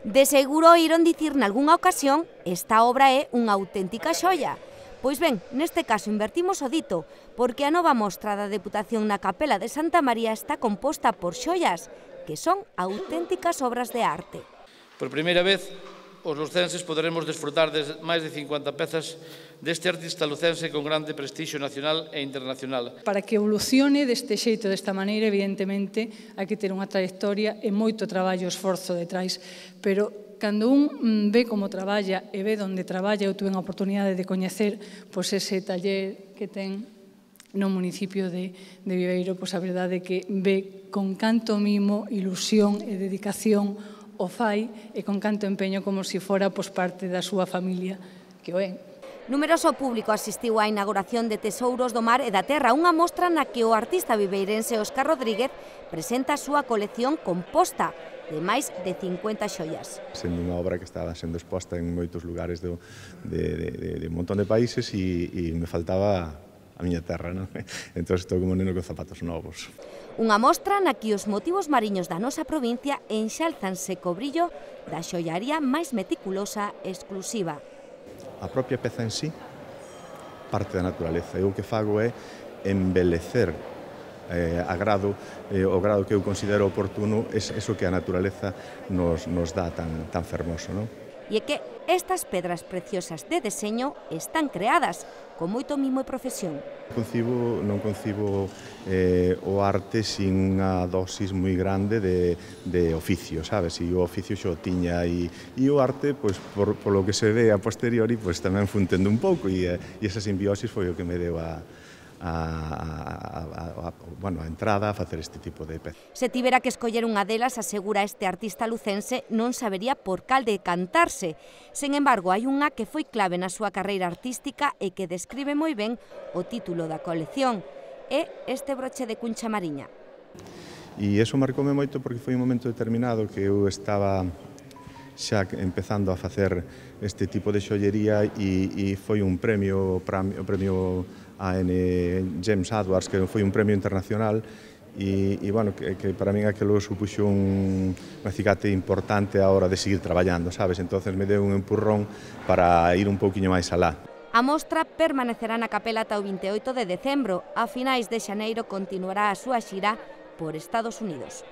De seguro oíron dicir nalgunha ocasión esta obra é unha auténtica xoia. Pois ben, neste caso invertimos o dito, porque a nova mostra da Deputación na Capela de Santa María está composta por xoias, que son auténticas obras de arte. Por primeira vez, os lucenses poderemos desfrutar de máis de 50 pezas deste artista lucense con grande prestixio nacional e internacional. Para que evolucione deste xeito, desta maneira, evidentemente, hai que ter unha trayectoria e moito traballo e esforzo detrás, pero cando un ve como traballa e ve onde traballa, eu tuve a oportunidade de coñecer ese taller que ten no municipio de Viveiro, a verdade é que ve con canto mimo, ilusión e dedicación o fai e con canto empeño como se fora parte da súa familia, que o é. Numeroso público asistiu á inauguración de Tesouros do Mar e da Terra, unha mostra na que o artista viveirense Óscar Rodríguez presenta a súa colección composta de máis de 50 xoias. Sendo unha obra que estaba sendo exposta en moitos lugares de un montón de países e me faltaba a miña terra, non? Entón estou como neno con zapatos novos. Unha mostra na que os motivos mariños da nosa provincia enxálzanse co brillo da xoiaría máis meticulosa e exclusiva. A propia peza en sí parte da naturaleza. Eu o que fago é embelecer o grado que eu considero oportuno eso que a naturaleza nos dá tan fermoso, non? E é que estas pedras preciosas de deseño están creadas con moito mimo e profesión. Non concibo o arte sin unha dosis moi grande de oficio, sabes? E o oficio xo tiña e o arte, polo que se ve a posteriori, tamén fun tendo un pouco e esa simbiosis foi o que me deu a entrada a facer este tipo de pezas. Se tivera que escoller unha delas, asegura este artista lucense, non sabería por cal decantarse. Sen embargo, hai unha que foi clave na súa carreira artística e que describe moi ben o título da colección. É este broche de cuncha mariña. E iso marcoume moito porque foi un momento determinado que eu estaba xa empezando a facer este tipo de xollería e foi un premio, o premio AN James Edwards, que foi un premio internacional e que para min aquilo supuxo un acicate importante a hora de seguir traballando, sabes? Entonces me deu un empurrón para ir un pouquiño máis alá. A mostra permanecerá na capela ata o 28 de decembro. A finais de xaneiro continuará a súa xira por Estados Unidos.